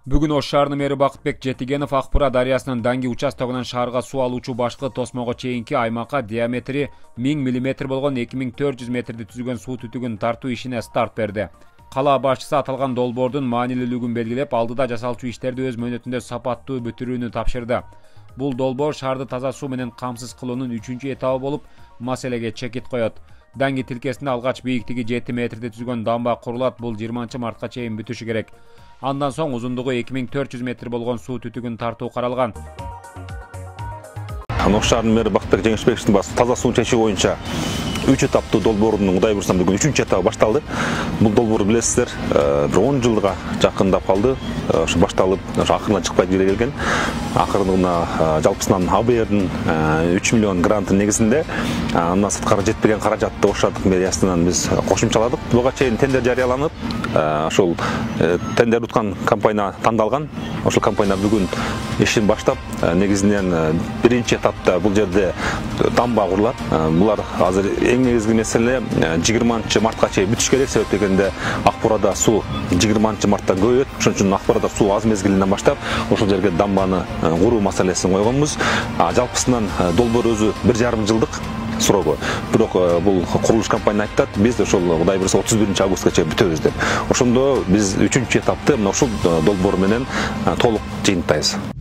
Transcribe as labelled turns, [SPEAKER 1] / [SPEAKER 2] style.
[SPEAKER 1] Бүгүн Ош шаарынын мэри Бакытбек Жетигенов Акбура дарыясынын Данги участогунан шаарга суу алуучу башкы тосмого чейинки аймакка диаметри 1000 мм болгон 2400 метрди түзгөн суу түтүгүн тартуу ишине старт берди. Кала башчысы аталган долбоордун маанилүүлүгүн белгилеп, алдыда жасалчу иштерди өз мөөнөтүндө сапаттуу бүтүрүүнү тапшырды. Бул долбоор шаарды таза суу менен камсыз кылуунун 3-этабы болуп, маселеге чекит коет. Данги тилкесинде алгач бийиктиги 7 метрди түзгөн дамба курулат. Бул 20-мартка чейин бүтүшү керек. Андан соң узундугу 2400 метр болгон суу түтүгүн тартуу каралган.
[SPEAKER 2] Ош шаарынын мэри Бакытбек Жетигеновдун таза суу чечүү боюнча 3 этаптуу долбоордун Кудай буйрса бүгүн 3-этабы башталды. Бул долбоор билесиздер, бир 10 жылга жакындап калды. Ошо башталып, ошо акырына чыкпай келген. Акырына жалпысынан АБРдин 3 миллион гранты негизинде андан сырткары жетпеген каражатты Ош шаардык мэриясынан биз кошумчаладык. Буга чейин тендер жарыяланып, ошол тендер уткан компания тандалган. Ошол компания бүгүн ишин баштап, негизинен биринчи этапта бул жерде дамба курулат. Булар азыр эң негизги меселе 20-мартка чейин бүтүш керек. Себеп дегенде Акбурада суу 20-мартта көбөйөт. Ошон үчүн Акбурада суу аз мезгилинен баштап ошол жерге дамбаны куруу маселесин койгонбуз. Жалпысынан долбоор өзү 1,5 жылдык срогу. Бирок бул курулуш компания айтат, биз ошол Кудай буйрса 31-августка чейин бүтөбүз деп. Ошондо биз 3-этапты мына ушул долбоор менен толук жыйынтпайбыз.